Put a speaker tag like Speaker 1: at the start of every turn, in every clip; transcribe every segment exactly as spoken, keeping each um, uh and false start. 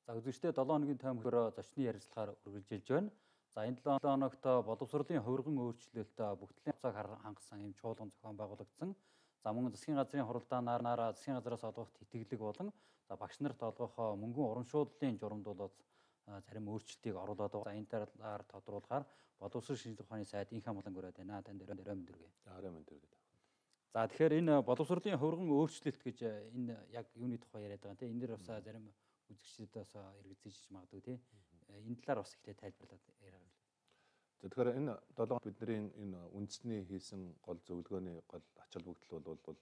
Speaker 1: За үзэгчдээ долоо хоногийн таймхөрөө зочны ярилцлагаар үргэлжилж байна. За энэ долоо хоногт боловсролын хувирган өөрчлөлт бүгдлийн хугацааг хангасан юм чуулган зохион байгуулагдсан. За мөн засгийн газрын хуралдаанаар засгийн газраас олгох тэтгэлэг болон за багш нарт олгох мөнгөн урамшууллын журамд бол зарим өөрчлөлтийг оруулаад байгаа. За энэ талаар тодруулахаар боловсрол шинжилгээ ухааны сайд инх амглан өрөөд байна. Танд өрөө мэндүргээ.
Speaker 2: За өрөө мэндүргээ.
Speaker 1: За тэгэхээр энэ боловсролын хувирган өөрчлөлт гэж энэ яг юуны тухай яриад байгаа тийм. Энэ дэр бас зарим үзэгчдэд бас эргэцээж магадгүй тийм. Энэ талаар бас ихлэ тайлбарлаад яриа.
Speaker 2: За тэгэхээр энэ долоо бидний энэ үндэсний хийсэн гол зөвлөгөөний гол ач холбогдол бол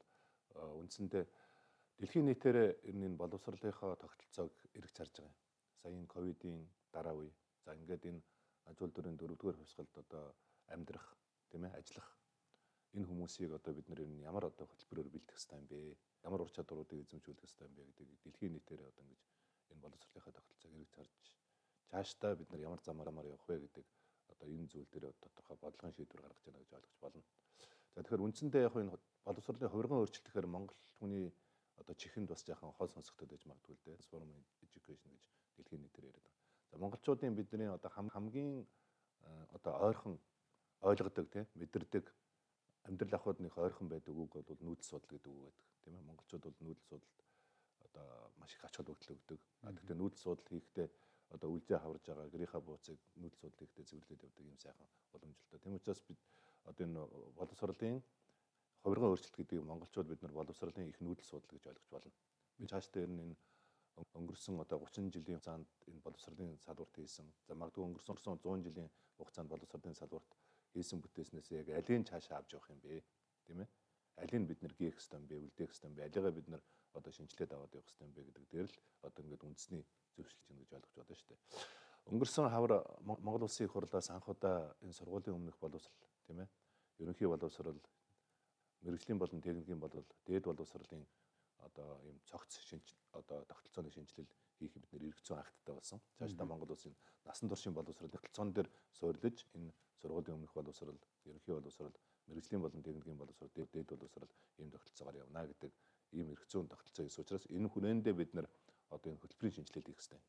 Speaker 2: үндсэндээ дэлхийн нийтээр энэ боловсролынхоо тогтолцоог эргэж харж байгаа юм. Сая энэ ковидын дараа үе. За ингээд энэ аж үйлдвэрийн дөрөвдүгээр хувьсгалд одоо амьдрах тийм ээ ажиллах энэ хүмүүсийг одоо бид нэр ямар одоо хөтөлбөрөөр бэлтгэх хэрэгтэй юм бэ? Ямар ур чадваруудыг эзэмшүүлэх хэрэгтэй юм бэ гэдэг дэлхийн нийтээр одоо ингэж энэ боловсролынхаа тогтолцоог эргэж харж цаашдаа бид нар ямар замаар ямар явах вэ гэдэг одоо энэ зүйл дээр тодорхой бодлогын шийдвэр гаргаж яана гэж ойлгож болно. За тэгэхээр үндсэндээ яг энэ боловсролын хувирган өөрчлөлт гэхээр Монгол хүний одоо чихэнд бас яахан хол сонсогдод байж магадгүй л дээ. Transform education гэж дэлхийн нийтээр яриад байгаа. За монголчуудын бидний одоо хамгийн одоо ойрхон ойлгодог тийм мэдэрдэг амьдрал ахуйдных ойрхон байдаг үг бол нүүдэл судал гэдэг үг байдаг тийм ээ. Монголчууд бол нүүдэл судалд одоо маш их ач холбогдол өгдөг. Гэхдээ нүүдэл судал хийхдээ одоо үлзээ хаварж байгаа гэрийнхаа бууцыг нүүдэл судал хийхдээ цэвэрлээд явдаг юм сайхан боломжтой. Тийм учраас бид одоо энэ боловсролын хувирган өөрчлөлт гэдгийг монголчууд бид нар боловсролын их нүүдэл судал гэж ойлгож болно. Би цаашдаа энэ өнгөрсөн одоо гучин жилийн хугацаанд энэ боловсролын салбарт хийсэн. За магадгүй өнгөрсөн зуун жилийн хугацаанд боловсролын салбарт хийсэн бүтээснээс яг алийн цаашаа авч явах юм бэ? Тийм ээ? Алийг бид нэр гүйх хэвээр юм бэ? Үлдээх хэвээр юм бэ? Алигаа бид нар одоо шинжилээд аваад явах хэвээр юм бэ гэдэг дээр л одоо ингээд үндэсний зөвшөлт чинь гэж ойлгож байна шүү дээ. Өнгөрсөн хавар Монгол Улсын их хурлаас анх удаа энэ сургуулийн өмнөх боловсрол тийм ээ? Ерөнхий боловсрол, мэргэжлийн болон техникийн боловсрол, дээд боловсролын одоо ийм цогц шинж одоо тогтолцооны шинжилэл хийх бид нэр эргэцэн акттай болсон. Цаашдаа Монгол Улсын насан туршийн боловсролын тогтолцоон дээр суурилж энэ сургуулийн өмнөх боловсрол, ерөнхий боловсрол, мэргэжлийн болон техникийн боловсрол, дээд боловсрол ийм тогтолцоогоор явна гэдэг ийм эргэцэн тогтолцоо гэсэн учраас энэ хүрээндээ бид нар одоо энэ хөтөлбөрийн шинжилэл хийх хэрэгтэй.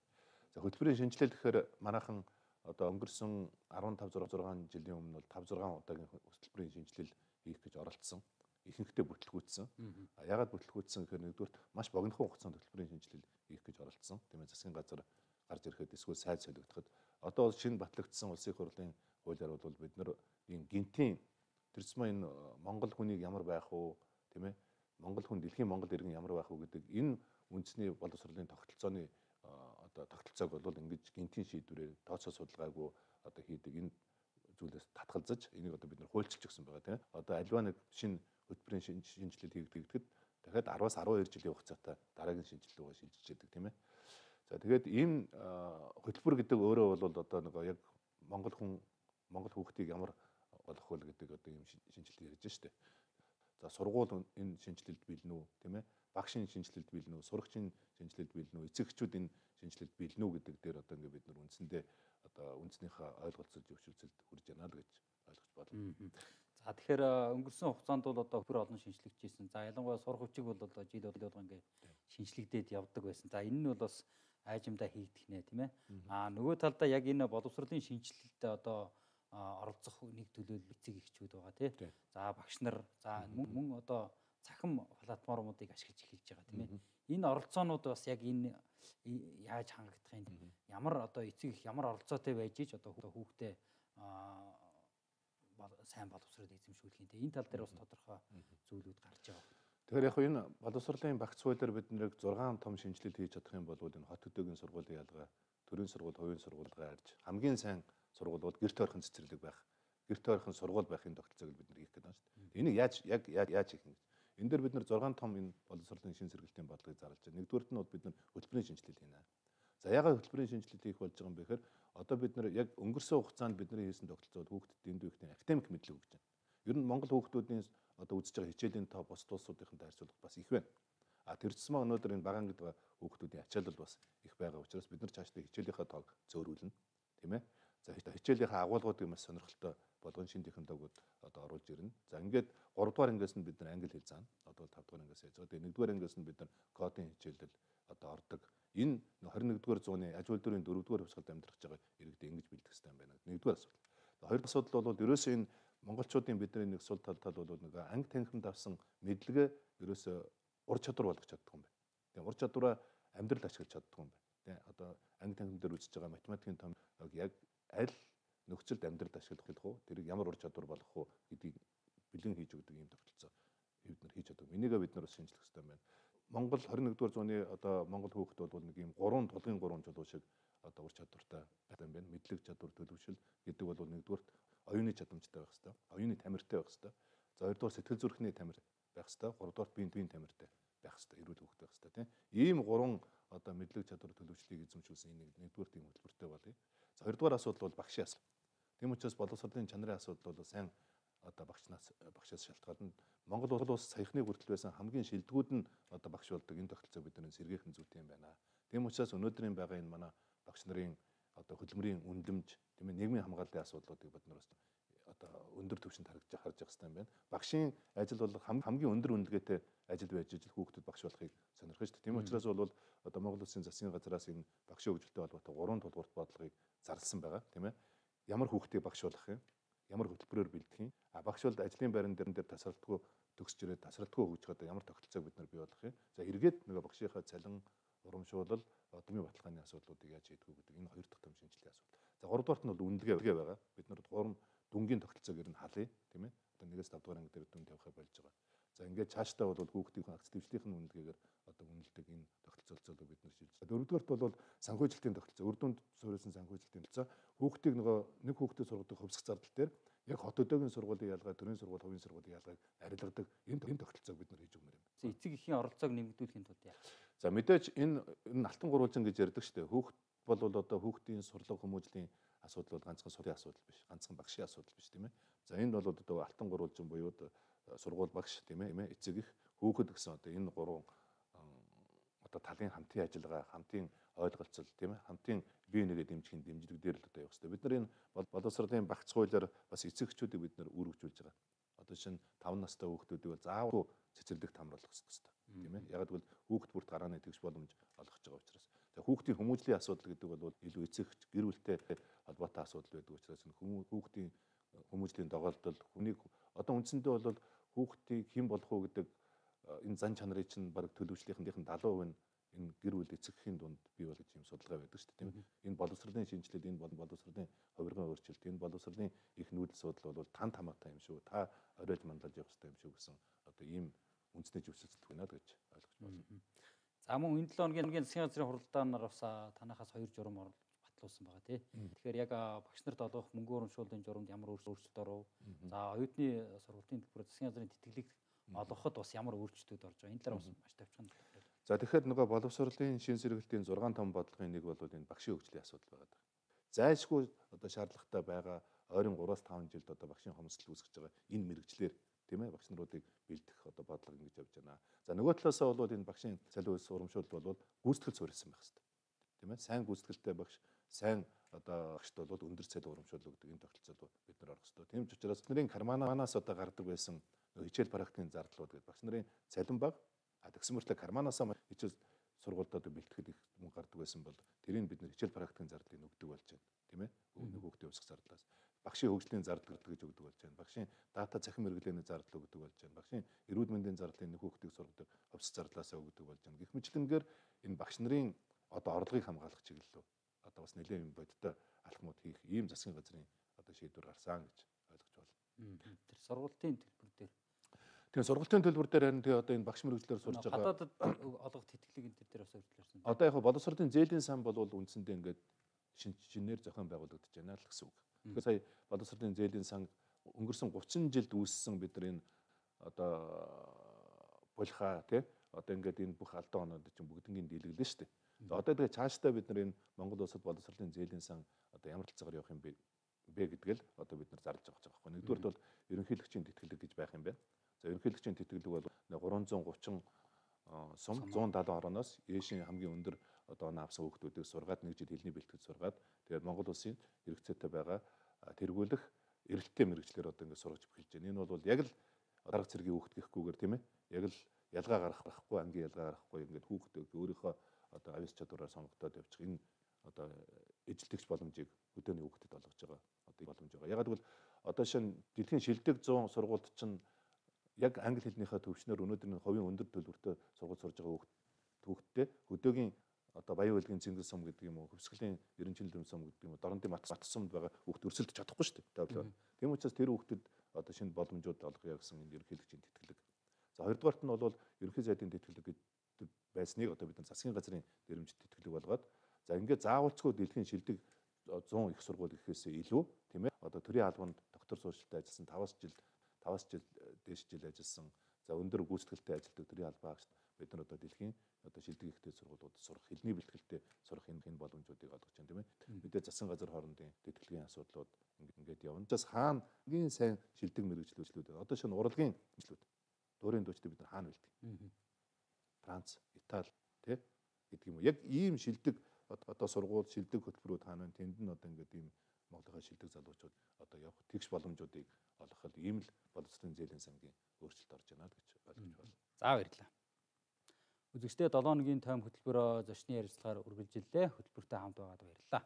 Speaker 2: За хөтөлбөрийн шинжилэл гэхээр манайхан одоо өнгөрсөн арван тав зургаан жилийн өмнө бол тавь зургаан удаагийн хөтөлбөрийн шинжилэл хийх гэж оролдсон. Ихэнхдээ бүтлгүүцсэн. А ягаад бүтлгүүцсэн гэхээр нэгдүгээр маш богинохон хугацаанд хөтөлбөрийн шинжилэл хийх гэж оролдсон. Тийм ээ засгийн газар гарч ирэхэд эсвэл сайд солигдоход одоо шинэ батлагдсан улсын их хурлын хуулиар бол бид нар энэ гинтийн тэр зам энэ Монгол хүнийг ямар байх уу тийм ээ Монгол хүн дэлхийн Монгол иргэн ямар байх уу гэдэг энэ үндэсний боловсролын тогтолцооны одоо тогтолцоог бол ингэж гинтийн шийдвэрээр тооцоо судалгаагүй одоо хийдэг энэ зүйлээс татгалзаж энийг одоо бид нар хуульчилж өгсөн байгаа тийм одоо альва нэг шинэ хөтөлбөрийн шинжилэл хийгдэхэд дахиад араваас арван хоёр жилийн хугацаатай дараагийн шинжилэл рүүгээ шилжиж яадаг тийм ээ. За тэгээд ийм хөтөлбөр гэдэг өөрөө бол одоо нэг яг Монгол хүн Монгол хүүхдийг ямар болох вэ гэдэг одоо ийм шинжилэл ярьж штэ. За сургууль энэ шинжилэлд бэлнэ үү тийм ээ. Багшийн шинжилэлд бэлнэ үү, сурагчийн шинжилэлд бэлнэ үү, эцэгчүүд энэ шинжилэлд бэлнэ үү гэдэг дээр одоо ингээд бид нар үндсэндээ одоо үндснийхээ ойлголцол зөвшөөрлөлд хүрж яана л гэж ойлгож байна.
Speaker 1: За тэгэхээр өнгөрсөн хугацаанд бол одоо бүр олон шинжлэгдчихсэн. За ялангуяа сурах хүчиг бол одоо жил болго ингээд шинжлэгдээд явдаг байсан. За энэ нь бол бас айжимдаа хийгдэх нэ тийм ээ. Аа нөгөө талдаа яг энэ боловсролын шинжилэлд одоо оролцох нэг төлөөлөл эцэг эхчүүд байгаа тийм. За багш нар за мөн одоо цахим платформуудыг ашиглаж эхэлж байгаа тийм ээ. Энэ оролцоонууд бас яг энэ яаж хангагдах юм ямар одоо эцэг их ямар оролцоотой байж ич одоо хүүхдээ сайн боловсрол эзэмшүүлэх юм. Энэ тал дээр бас тодорхой зүйлүүд гарч байгаа.
Speaker 2: Тэгэхээр яг энэ боловсролын багц хуулиар бид нэр зургаан том шинжилэл хийж чадах юм бол энэ хот төдөөгийн сургуулийн ялгаа, төрийн сургууль, хувийн сургуулигаа арж хамгийн сайн сургууль бол гэрт ойрхон цэцэрлэг байх, гэрт ойрхон сургууль байхын тогтолцоог бид нар хийх гэдэг байна шүү дээ. Энийг яаж яг яаж хийх юм? Энэ дээр бид нар зургаан том энэ боловсролын шин сэргэлтийн бодлогыг зарлаж байна. Нэгдүгээрт нь бол бид нар хөтөлбөрийн шинжилэл хийнэ. За ягаад хөтөлбөрийн шинжилэл хийх болж байгаа юм бэ гэхээр одоо бид нар яг өнгөрсөн хугацаанд бидний хийсэн тогтолцоод хүүхдэд дэндүү ихтэй академик мэдлэг өгч байна. Ер нь Монгол хүүхдүүдийн одоо үзэж байгаа хичээлийн тоо бусад улсуудынхантай харьцуулбал бас их байна. А тэр зэсмээ өнөөдөр энэ багаан гэдэг хүүхдүүдийн ачаалал бас их байгаа учраас бид нар цаашдаа хичээлийнхаа тоог зөөрүүлнэ, тийм ээ. За хичээлийнхаа агуулгуудыг маш сонирхолтой болгон шин технологиуд одоо оруулж ирнэ. За ингээд гурав дугаар ангиас нь бид нар англи хэл заана. Одоо тав дугаар ангиас яаж байгаа. Тэгээ нэгдүгээр ангиас нь бид нар кодын хичээлэл одоо ордог. Энэ хорин нэгдүгээр зууны аж үйлдвэрийн дөрөвдүгээр хувьсгалд амьдрах гэж байгаа иргэдэд ингэж бэлдэх хэрэгтэй юм байна. Нэгдүгээр асуудал. Хоёр асуудал бол ерөөсөө энэ монголчуудын бидний нэг сул тал тал бол нэг анги танхимд авсан мэдлэгээ ерөөсөө ур чадвар болгож чаддаг юм байна. Тэгээ ур чадвараа амьдрал ашиглаж чаддаг юм байна. Тэгээ одоо анги танхим дээр үзэж байгаа математикийн том яг аль нөхцөлд амьдралд ашиглах уу, тэрийг ямар ур чадвар болгох уу гэдгийг бэлэн хийж өгдөг юм тогтолцоо бид нар хийж чаддаг. Энийгээ бид нар бас шинжлэх хэрэгтэй юм байна. Монгол хорин нэгдүгээр зууны одоо Монгол хүүхэд бол нэг юм гурван тулгын гурван чулуу шиг одоо ур чадвартай байсан юм байна. Мэдлэг чадвар, төлөвшил гэдэг бол нэгдүгээр оюуны чадамжтай байх хэрэгтэй. Оюуны тамиртай байх хэрэгтэй. За хоёрдугаар сэтгэл зүрхний тамир байх хэрэгтэй. Гуравдугаар биеийн биеийн тамиртай байх хэрэгтэй. Эрүүл хүүхэд байх хэрэгтэй тийм. Ийм гурван одоо мэдлэг чадвар төлөвшлийг эзэмшүүлсэн энэ нэгдүгээр тийм хөтөлбөртэй болъё. За хоёрдугаар асуудал бол багшийн асуудал. Тийм учраас боловсролын чанарын асуудал бол сайн одоо багшнаас багшаас шалтгаална. Монгол улс саяхны хүртэл байсан хамгийн шилдэгүүд нь одоо багш болдог. Энэ тогтолцоог бид нар сэргээхэн зүйтэй юм байна. Тийм учраас өнөөдрийн байгаа энэ манай багш нарын одоо хөдөлмөрийн үнэлэмж, тийм ээ, нийгмийн хамгааллын асуудлуудыг бид нар бас одоо өндөр түвшинд харж харж явах хэрэгтэй юм байна. Багшийн ажил бол хамгийн өндөр үнэлгээтэй ажил байж ижил хүүхдүүд багш болохыг сонирхож шүү дээ. Тийм учраас бол одоо Монгол Улсын засгийн газраас энэ багшийн хөгжилтэй холбоотой гурван тулгуурт бодлогыг зарласан байгаа, тийм ээ. Ямар хүүхдийг багш болгох юм? Ямар хөтөлбөрөөр бэлдэх юм? А багш бол ажлын байран дээр дээр тасралтгүй төгсж ирээд тасралтгүй хөгжих одоо ямар тогтолцоог бид нар бий болгох юм? За эргээд нөгөө багшийнхаа цалин, урамшуулал, дэмий баталгааны асуудлуудыг яаж хийдэг вэ гэдэг энэ хоёр дахь том шинжилгээ асуудал. За гуравдугаарт нь бол үнэлгээ байгаа. Бид нар гурван дүнгийн тогтолцоог ер нь халъя, тийм ээ. Одоо нэгээс тавд дугаар анги дээр дүн тавихаа болж байгаа. За ингээд цаашдаа бол хүүхдийн агц дэвшлийнхэн үнэлгээгээр одоо үнэлдэг энэ тогтолцоолцоолыг бид нар шилжиж. Дөрөвдүгээрт бол санхүүжилтийн тогтолцоо, үр дүнд суурилсан санхүүжилтийн тогтолцоо. Хүүхдийг нөгөө нэг хүүхдэд сургадаг хувьсах зардал дээр яг хот өдөөгийн сургуулийн ялгаа, төрийн сургууль, хувийн сургуулийн ялгааг арилгадаг энэ энэ тогтолцоог бид нар хийж өгмөр юм.
Speaker 1: За эцэг эхийн оролцоог нэмэгдүүлэхийн тулд яах вэ?
Speaker 2: За мэдээж энэ энэ алтан гурвалжин гэж ярьдаг шүү дээ. Хүүхд бол одоо хүүхдийн сурлага хүмүүжлийн асуудал бол ганцхан сургуулийн асуудал биш, ганцхан багшийн асуудал биш, тийм ээ. За энэ бол одоо алтан гурвалжин буюу сургууль багш, тийм ээ, эцэг их, хүүхэд гэсэн одоо энэ гурван одоо талын хамтын ажиллагаа, хамтын ойлголцол, тийм ээ, хамтын бие нэгэ дэмжихийн дэмжлэг дээр л одоо явах хэрэгтэй. Бид нар энэ боловсролын багц хуулиар бас эцэг эхчүүдийг бид нар үүргэжүүлж байгаа. Одоо шинэ таван настай хүүхдүүдийг бол заавал цэцэрлэг тамруулах хэрэгтэй, тийм ээ. Яг гэвэл хүүхд бүрт гарааны тэгш боломж олгож байгаа учраас. За хүүхдийн хүмүүжлийн асуудал гэдэг бол илүү эцэг эч гэр бүлтэй холбоотой асуудал байдаг учраас энэ хүүхдийн хүмүүжлийн доголдол, хүнийг одоо үндсэндээ бол хүүхдийг хэн болох уу гэдэг энэ зан чанарыг чинь баг төлөвчлийнхэн залуу хувь нь энэ гэр бүл эцэг эхийн дунд бий болгож юм судалгаа байдаг шүү дээ, тийм ээ. Энэ боловсролын шинжилэл, энэ боловсролын хувиргаан өөрчлөлт, энэ боловсролын их нүүдэл судал бол тань тамаатай юм шүү. Та оройлж мандалж явах хэрэгтэй юм шүү гэсэн одоо ийм үндэсний зөвшөөрлөлт байна гэж ойлгож байна.
Speaker 1: За мөн энэ долоо хоногийн засгийн газрын хуралдаанаар бас танахаас хоёр журам батлуулсан байгаа тий. Тэгэхээр яг багш нарт олгох мөнгө урамшууллын журамд ямар өөрчлөлт оров? За оюутны сургалтын төлбөр засгийн газрын тэтгэлэг олгоход бас ямар өөрчлөлтүүд орж байгаа? Энэ талаар бас маш тавчхан.
Speaker 2: За тэгэхээр нөгөө боловсролын шин сэргэлтийн зургаан том бодлогын нэг бол энэ багшийн хөгжлийн асуудал байгаа. Зайлшгүй одоо шаардлагатай байгаа ойрон гураас таван жилд одоо багшийн хомсдол үүсгэж байгаа энэ мэрэгчлэр, тийм ээ, багш наруудыг бэлдэх одоо бодлого ингэж явж байна. За нөгөө талаасаа бол энэ багшийн цалин үйлс урамшуулалт бол гүйцэтгэл суурилсан байх хэрэгтэй. Тийм ээ, сайн гүйцэтгэлтэй багш, сайн одоо багшд бол өндөр цалин урамшуул өгдөг энэ тогтолцоод бид нар орох хэрэгтэй. Тийм ч учраас нарын карманаас одоо гардаг байсан хичээл практикийн зардлууд гэдэг багш нарын цалин баг, а тэгсэн мөртлөө карманаасаа хичээл сургуульдад бэлтгэхэд их мөнгө гардаг байсан бол тэрийг бид нэр хичээл практикийн зардлыг өгдөг болж байна, тийм ээ. Нэг хүүхдийн өсөх зардлаас багшийн хөгжлийн зардал гэж өгдөг болж байна. Багшийн дата цахим хэрэглээний зардал өгдөг болж байна. Багшийн эрүүл мэндийн зардлыг нэг хүүхдийг сургадаг хувьс зардлаасаа өгдөг болж байна. Гэх мэтлэнгээр энэ багш нарын одоо орлогыг хамгаалах чиглэлөө одоо бас нэлээд юм бодтой алхмууд хийх ийм засгийн газрын одоо шийдвэр гарсан гэж ойлгож байна.
Speaker 1: Тэр сургалтын төлбөр дээр
Speaker 2: Тэгээ сургалтын төлбөр дээр харин тэгээ одоо энэ багш мэргэжлэр сурж байгаа
Speaker 1: гадаадд олгох тэтгэлэг энэ дээр бас өөрчлөлтөрсөн.
Speaker 2: Одоо яг боловсролын зээлийн сан бол үндсэндээ ингээд шин шинээр зохион байгуулагдаж байна л гэсэн үг. Тэгэхээр сая боловсролын зээлийн сан өнгөрсөн гучин жилд үүссэн бид нар энэ одоо булхаа тий одоо ингээд энэ бүх алдаан оноод чинь бүгднийг дийлгэлээ шүү дээ. За одоо тэгээ цаашдаа бид нар энэ Монгол улсад боловсролын зээлийн сан одоо ямар талцаагаар явах юм бэ бэ гэдгээл одоо бид нар зарлж байгаа байхгүй. Нэгдүгээр бол ерөнхийлөгчийн тэтгэлэг гэж байх юм байна. За ерөнхийлөгчийн тэтгэлэг бол гурван зуун гучин сум зуун даалан орооноос ээшийн хамгийн өндөр одоо оноо авсан хүүхдүүдийг сургаад нэг жил хэлний бэлтгэж сургаад тэгээд Монгол улсын хэрэгцээтэй байгаа тэргүүлэх эрэлттэй мэрэгчлэр одоо ингээд сургаж эхэлж байна. Энэ бол яг л дарга цэргийн хүүхд гэхгүйгээр тийм ээ. Яг л ялгаа гаргахгүй, ангийн ялгаа гаргахгүй ингээд хүүхдүүд өөрийнхөө одоо авьяас чадвараар сонгогдоод явчих энэ одоо эжилтгч боломжийг өдөөний хүүхдэд олгож байгаа одоо боломж байгаа. Ягаад гэвэл одоо шинэ дэлхийн шилдэг зуун сургуульд чинь яг англи хэлнийхээ төвчнөр өнөөдөр энэ хувийн өндөр төлбөртэй сургууль сурж байгаа хүүхдтэй өдөөгийн одоо баян хөлгийн цэнгэл сум гэдэг юм уу, хөвсгөлийн ерөнхийлөгчийн сум гэдэг юм уу, дорнодын бат сумд байгаа хүүхд өрсөлдөж чадахгүй шүү дээ. Тийм учраас тэр хүүхдэд одоо шинэ боломжууд олгоё гэсэн энэ ерөнхийлөгчийн тэтгэлэг. За хоёрдугаарт нь бол ерөнхий сайдын тэтгэлэг гэдэг байсныг одоо бид нар засгийн газрын нэрмжит тэтгэлэг болгоод за ингээд заавалцгүй дэлхийн шилдэг зуун их сургууль гэхээсээ илүү тийм ээ одоо төрийн албанд доктор суурьшилтай ажилласан таваас жил таваас жил дээш жил ажилласан за өндөр гүйцэтгэлтэй ажилладаг төрийн албаагч бид нар одоо дэлхийн одоо шилдэг ихтэй сургуулиуд сурах хэлний бэлтгэлтэй сурах энэ энэ боломжуудыг олгож байна тийм ээ. Мэдээ засгийн газар хоорондын тэтгэлгийн асуудлууд ингээд явна. Жас хаана гийн сайн шилдэг мэрэгчлүүд одоо шинэ урлагийн мэрэгчлүүд дуурийн дуучдыг бид нар хаана бэлтгэв? Франц, Итали тий гэдэг юм уу. Яг ийм шилдэг одоо сургууль шилдэг хөтөлбөрүүд хаана вэ? Тэнд нь одоо ингээд ийм Монголынхаа шилдэг залуучууд одоо явах тэгш боломжуудыг олгоход ийм л боловсролын зээлийн сангийн өөрчлөлт орж байна гэж ойлгож байна.
Speaker 1: За баярлалаа. Үзэгчдээ долоо хоногийн тайм хөтөлбөрөө зочны ярилцлагаар үргэлжиллээ. Хөтөлбөртэй хамт байгаад баярлалаа.